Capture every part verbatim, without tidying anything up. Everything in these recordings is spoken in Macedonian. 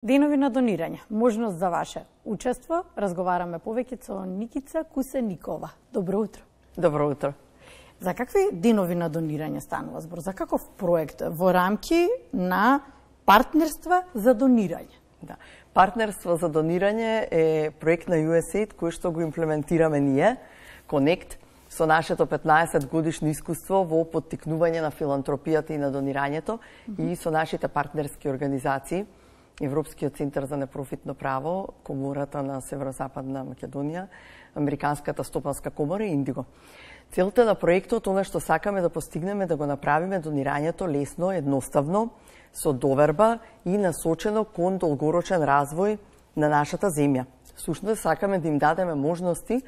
Денови на донирање, можност за ваше учество. Разговараме повеќе со Никица Кусеникова. Добро утро. Добро утро. За какви денови на донирање станува збор? За каков проект во рамки на партнерства за донирање? Да. Партнерство за донирање е проект на ю ес ей ай ди кој што го имплементираме ние, Connect, со нашето петнаесет годишно искуство во поттикнување на филантропијата и на донирањето mm -hmm. и со нашите партнерски организации, Европскиот центар за непрофитно право, Комората на Северозападна Македонија, Американската стопанска комора и Индиго. Целта на проектот, она што сакаме да постигнеме, да го направиме донирањето лесно, едноставно, со доверба и насочено кон долгорочен развој на нашата земја. Сушност, сакаме да им дадеме можности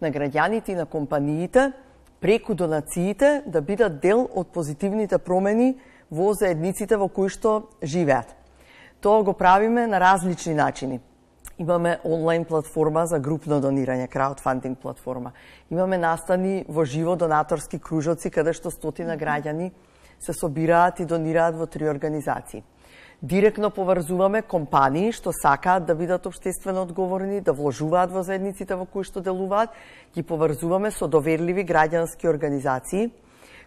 на граѓаните и на компаниите преку донациите да бидат дел од позитивните промени во заедниците во кои што живеат. Тоа го правиме на различни начини. Имаме онлайн платформа за групно донирање, краудфандинг платформа. Имаме настани во живо донаторски кружоци каде што стотина граѓани се собираат и донираат во три организации. Директно поврзуваме компании што сакаат да бидат општествено одговорни, да вложуваат во заедниците во кои што делуваат, ги поврзуваме со доверливи граѓански организации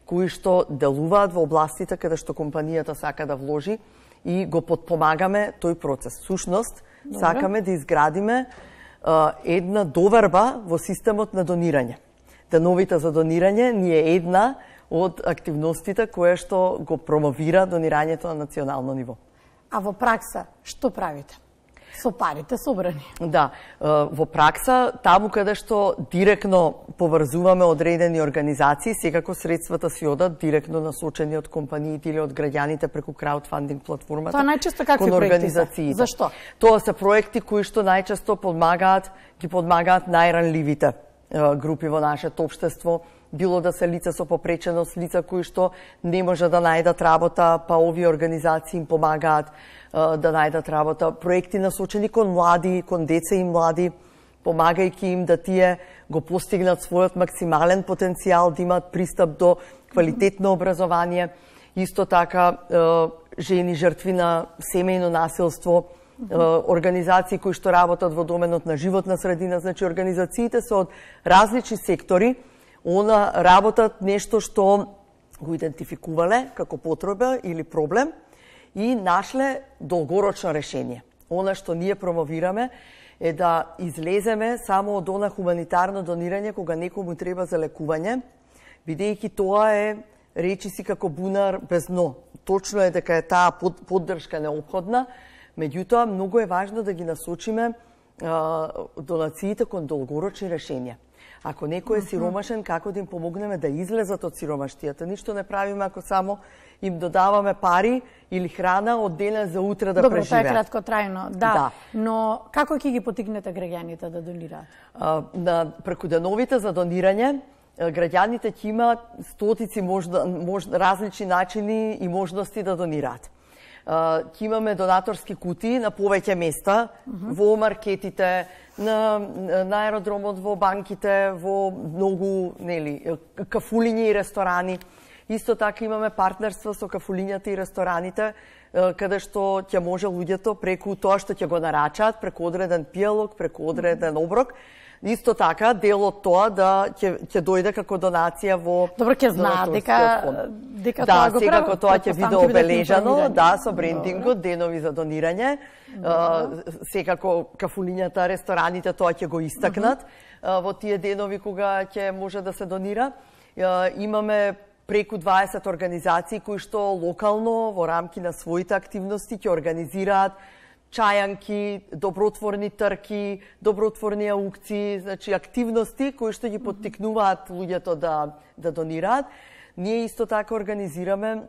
кои што делуваат во областите каде што компанијата сака да вложи и го подпомагаме тој процес. Сушност, Добре. Сакаме да изградиме а, една доверба во системот на донирање. Деновите за донирање ни е една од активностите која што го промовира донирањето на национално ниво. А во пракса, што правите? Со парите собрани? Да, во пракса, таму каде што директно поврзуваме одредени организации, секако средствата си одат директно насочени од компаниите или од граѓаните преку краудфандинг платформата. Тоа најчесто какви проекти се? Зашто? Тоа се проекти кои што најчесто подмагаат, ги подмагаат најранливите групи во нашето општество, било да се лица со попреченост, лица кои што не може да најдат работа, па овие организации им помагаат да најдат работа. Проекти насочени кон млади, кон деца и млади, помагајќи им да тие го постигнат својот максимален потенцијал, да имаат пристап до квалитетно образование. Исто така, жени жртви на семејно насилство, организации кои што работат во доменот на животна средина, значи организациите се од различни сектори, она работат нешто што го идентификувале како потреба или проблем и нашле долгорочно решение. Она што ние промовираме е да излеземе само од она хуманитарно донирање кога некому треба за лекување, бидејќи тоа е речиси како бунар без дно. Точно е дека е таа поддршка неопходна, меѓутоа многу е важно да ги насочиме а, донациите кон долгорочни решенија. Ако некој е сиромашен, како да им помогнеме да излезат од сиромаштијата? Ништо не правиме ако само им додаваме пари или храна од денес за утре да Добро, преживеат. Добро, тоа е краткотрајно, да. да. Но како ќе ги поттикнете граѓаните да донираат? А, на, преку деновите за донирање, граѓаните ќе имаат стотици можда, можда, различни начини и можности да донираат. Ќе имаме донаторски кутии на повеќе места, uh -huh. во маркетите, на, на аеродромот, во банките, во многу нели, кафулиња и ресторани. Исто така имаме партнерство со кафулињата и рестораните, каде што ќе може луѓето преку тоа што ќе го нарачаат, преку одреден пијалок, преку одреден оброк, исто така дел од тоа да ќе ќе дојде како донација во Добро, ќе знаат дека дека да, тоа го сега прави. тоа ќе биде обележано, да, со брендингот, денови за донирање. Секако кафулињата, рестораните тоа ќе го истакнат во тие денови кога ќе може да се донира. Имаме преку дваесет организации кои што локално во рамки на своите активности ќе организираат чајанки, добротворни трки, добротворни аукции, значи активности кои што ги поттикнуваат луѓето да да донираат. Ние исто така организираме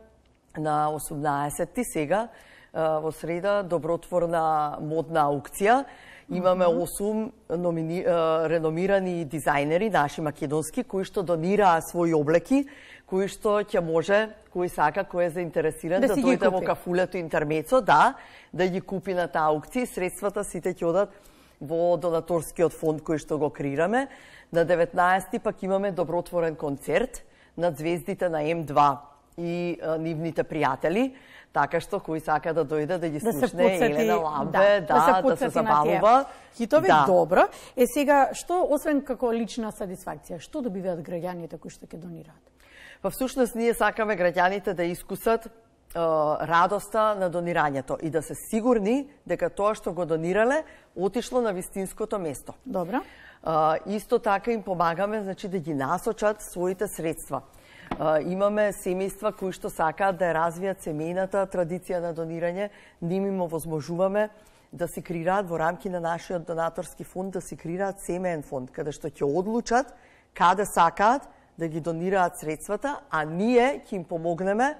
на осумнаесетти сега во среда добротворна модна аукција. Имаме осум номини, реномирани дизајнери, наши македонски, кои што донираа своји облеки, кои што ќе може, кој сака, кој е заинтересиран да, да дојде во кафулето Интермецо, да, да ги купи на таа аукција. Средствата сите ќе одат во донаторскиот фонд кој што го креираме. На деветнаесетти пак имаме добротворен концерт на звездите на М два и а, нивните пријатели, така што кој сака да дојде да ги да слушне Елена Ламбе, да, да, да, да се забавува. Хитови, да. Добро. Е сега, што, освен како лична сатисфакција, што добиваат граѓаните кои што ќе донираат? Па всушност ние сакаме граѓаните да искусат радоста на донирањето и да се сигурни дека тоа што го донирале отишло на вистинското место. Добро. Uh, исто така им помагаме, значи, да ги насочат своите средства. Uh, имаме семејства кои што сакаат да ја развијат семејната традиција на донирање, ним им овозможуваме да си креираат во рамки на нашиот донаторски фонд, да си креираат семеен фонд, каде што ќе одлучат каде сакаат да ги донираат средствата, а ние ќе им помогнеме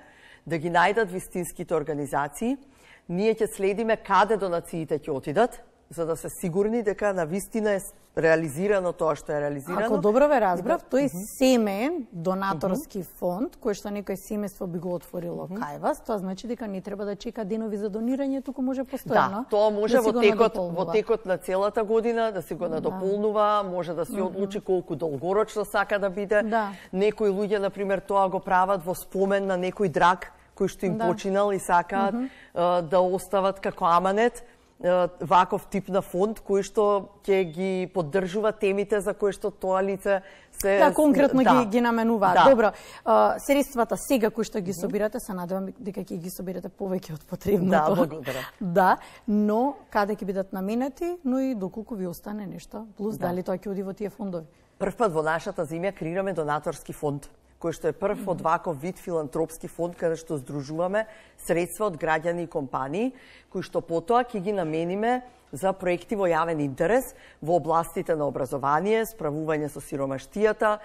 да ги најдат вистинските организации. Ние ќе следиме каде донациите ќе отидат, за да се сигурни дека на вистина е реализирано тоа што е реализирано. Ако добро ве разбрав, тој е семеен донаторски фонд, кој што некој семејство би го отворило кај вас, тоа значи дека не треба да чека денови за донирање, туку може постојано. Да, тоа може да во текот во текот на целата година да си го надополнува, да. Може да си одлучи колку долгорочно сака да биде. Да. Некои луѓе на пример тоа го прават во спомен на некој драг кој што им да. Починал и сакаат mm -hmm. да остават како аманет ваков тип на фонд кој што ќе ги поддржува темите за кои што тоа лице се да конкретно да. ги ги наменуваат. Да. Добро, средствата сега кои што ги собирате, се надевам дека ќе ги собирате повеќе од потребното. Да, благодарам. Да, но каде ќе бидат наменети, но и доколку ви остане нешто, плюс да. Дали тоа ќе оди во тие фондови. Прв пат во нашата земја креираме донаторски фонд, кој што е прв од ваков вид филантропски фонд, каде што здружуваме средства од граѓани и компании, кои што потоа ќе ги намениме за проекти во јавен интерес во областите на образование, справување со сиромаштијата,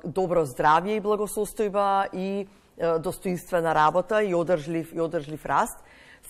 добро здравје и благосостојба и достоинствена работа и одржлив и одржлив раст.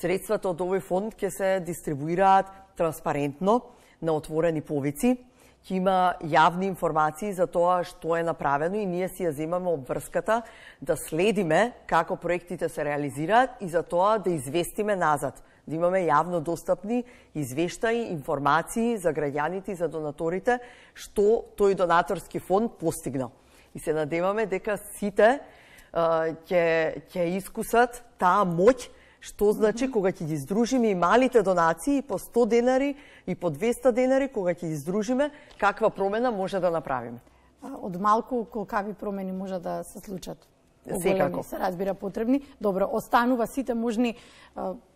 Средствата од овој фонд ќе се дистрибуираат транспарентно на отворени повици. Ќе има јавни информации за тоа што е направено и ние си ја земаме обврската да следиме како проектите се реализираат и за тоа да известиме назад, да имаме јавно достапни извештаи, информации за граѓаните и за донаторите што тој донаторски фонд постигнал. И се надеваме дека сите ќе ќе искусат таа моќ. Што значи кога ќе ги здружиме и малите донации по сто денари и по двеста денари, кога ќе ги здружиме, каква промена може да направиме? Од малку колкави промени може да се случат? Секако. Се разбира потребни. Добро, останува сите можни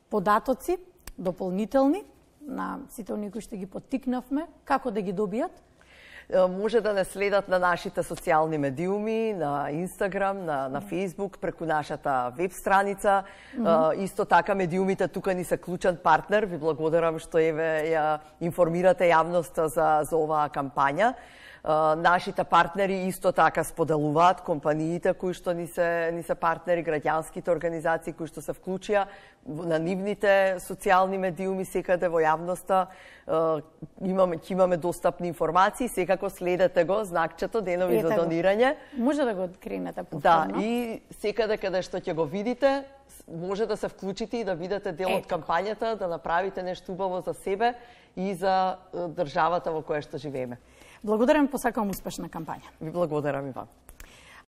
податоци, дополнителни, на сите оние кои што ги поттикнавме, како да ги добијат? Може да не следат на нашите социјални медиуми, на Инстаграм, на, на Фейсбук, преку нашата веб страница. Mm -hmm. Исто така медиумите тука ни се клучен партнер. Ви благодарам што еве ја информирате јавноста за, за оваа кампања. Uh, нашите партнери исто така споделуваат, компаниите кои што ни се, ни се партнери, граѓанските организации кои што се вклучија на нивните социјални медиуми секаде во јавноста. Uh, имаме, ќе имаме достапни информации, секако следете го, знакчето, денови за донирање. Може да го откринете повторно. Да, и секаде каде што ќе го видите, може да се вклучите и да бидете дел од кампањата, да направите нешто убаво за себе и за државата во која што живееме. Благодарам, посакувам успешна кампања. Ви благодарам и вам.